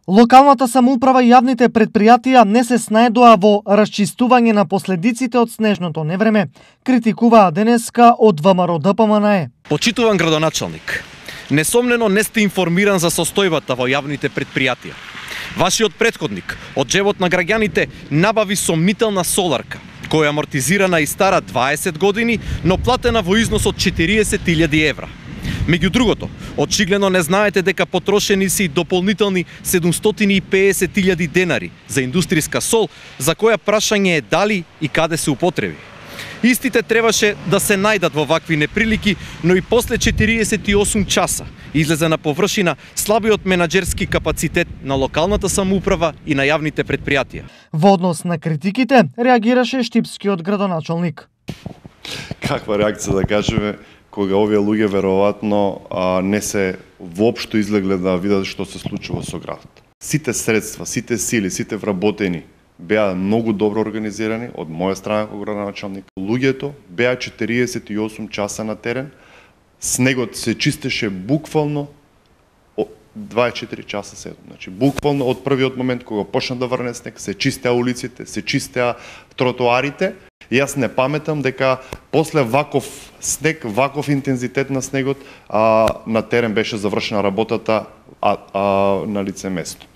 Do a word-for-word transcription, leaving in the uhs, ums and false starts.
Локалната самоуправа и јавните предпријатија не се снајдоа во расчистување на последиците од снежното невреме, критикуваа денеска од ВМРО-ДПМНЕ. Почитуван градоначалник, несомнено не сте информиран за состојбата во јавните предпријатија. Вашиот претходник од джебот на граѓаните набави сомнителна соларка, која амортизирана и стара дваесет години, но платена во износ од четириесет илјади евра. Меѓу другото, очигледно не знаете дека потрошени се и дополнителни седумстотини и педесет илјади денари за индустријска сол, за која прашање е дали и каде се употреби. Истите требаше да се најдат во вакви неприлики, но и после четириесет и осум часа излезе на површина слабиот менаџерски капацитет на локалната самоуправа и на јавните предпријатија. Во однос на критиките реагираше штипскиот градоначалник. Каква реакција да кажеме, кога овие луѓе веројатно не се воопшто излегле да видат што се случува со градот. Сите средства, сите сили, сите вработени беа многу добро организирани од моја страна како градоначалник. Луѓето беа четириесет и осум часа на терен, снегот се чистеше буквално дваесет и четири часа седум. Значи буквално од првиот момент кога почна да врне снег, се чистеа улиците, се чистеа тротоарите. Јас не паметам дека после ваков снег, ваков интензитет на снегот, а, на терен беше завршена работата а, а, на лице место.